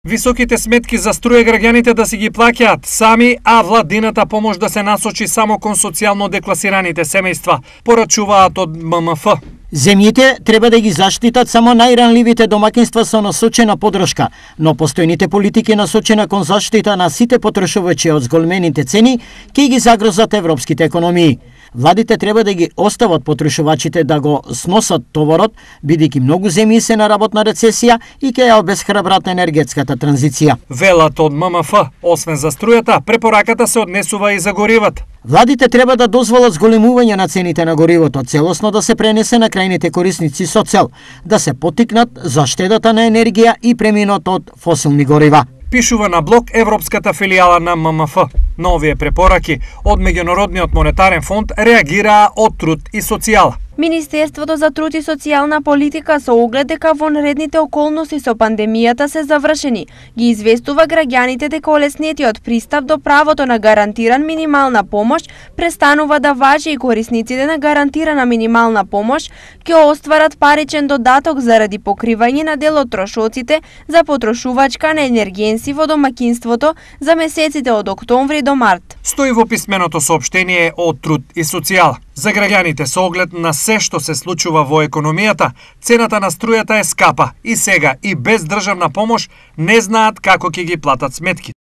Високите сметки за струја граѓаните да си ги плаќаат сами, а владината помош да се насочи само кон социјално декласираните семејства, порачуваат од ММФ. Земјите треба да ги заштитат само најранливите домаќинства со насочена подршка, но постојните политики насочена кон заштита на сите потрошувачи од зголемените цени ќе ги загрозат европските економии. Владите треба да ги остават потрошувачите да го сносат товарот, бидејќи многу земји се на работна рецесија и ќе ја обесхрабрат енергетската транзиција. Велат од ММФ, освен за струјата, препораката се однесува и за горивата. Владите треба да дозволат зголемување на цените на горивото, целосно да се пренесе на крајните корисници со цел да се поттикнат за штедата на енергија и преминот од фосилни горива. Пишува на блог Европската филијала на ММФ. На овие препораки од Меѓународниот монетарен фонд реагираа од Труд и социјала. Министерството за труд и социјална политика со оглед дека вонредните околности со пандемијата се завршени, ги известува граѓаните дека олеснетиот пристап до правото на гарантиран минимална помош престанува да важи и корисниците на гарантирана минимална помош ќе остварат паричен додаток заради покривање на дел од трошоците за потрошувачка на енергенси во домаќинството за месеците од октомври до март. Стои во писменото соопштение од Труд и социјала. За граѓаните со оглед на се што се случува во економијата, цената на струјата е скапа и сега и без државна помош не знаат како ќе ги платат сметки.